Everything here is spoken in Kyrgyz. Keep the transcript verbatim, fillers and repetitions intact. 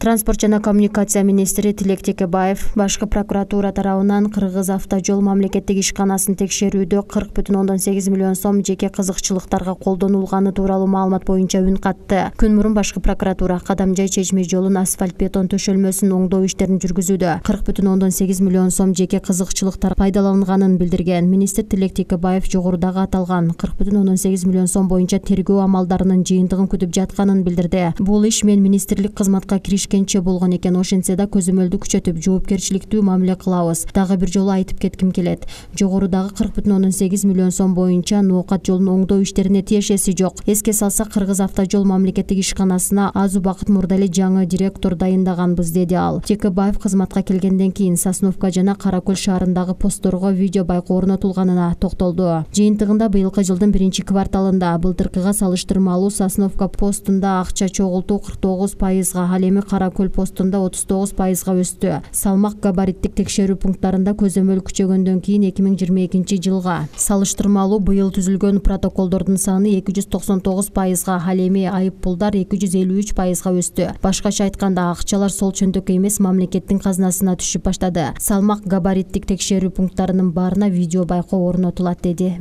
Транспорт жана коммуникация министри Тилек Текебаев башкы прокуратура тарабынан Кыргыз автожол мамлекеттик ишканасын текшерүүдө кырк бүтүн ондон сегиз миллион сом жеке кызыкчылыктарга колдонулганы тууралуу маалымат боюнча үн катты. Күн мурун башкы прокуратура Кадамжай Чечме жолун асфальт бетон төшөлмөсүн оңдоо иштерин жүргүзүүдө кырк бүтүн ондон сегиз миллион сом жеке кызыкчылыктар пайдаланганын билдирген. Министр Тилек Текебаев жогорудагы аталган кырк бүтүн ондон сегиз миллион сом боюнча тергөө амалдарынын жыйынтыгын күтүп жатканын билдирди. Бул иш мен министрлик кызматка киришкенче болгон экен, ошентсе да көзөмөлдү күчөтүп жоопкерчиликтүү мамиле кылабыз. Дагы бир жолу айтып кетким келет. Жогорудагы кырк бүтүн ондон сегиз миллион сом боюнча ноокат жолун оңдоо иштерине тиешеси жок. Эске салсак, Кыргыз автожол мамлекеттик ишканасына аз убакыт мурда эле жаңы директор дайындаганбыз, деди ал. Текебаев кызматка келгенден кийин Сосновка жана Кара Көл шаарындагы постторго видео байкоо орнотулганына токтолду. Жыйынтыгында быйылкы жылдын биринчи кварталында былтыркыга салыштырмалуу Сосновка постунда акча чогултуу кырк тогуз пайызга, ал эми Кара Көл постунда отуз тогуз пайызга өстү. Салмак габариттик текшерүү пункттарында көзөмөл күчөгөндөн кийин эки миң жыйырма экинчи жылга салыштырмалуу быйыл түзүлгөн протоколдордун саны эки жүз токсон тогуз пайызга, ал эми айып пулдар эки жүз элүү үч пайызга өстү. Башкача айтканда, акчалар сол чөндөккө эмес мамлекеттин казынасына түшүп баштады. Салмак габариттик текшерүү пункттарынын баарына видео байкоо орнотулат, деди.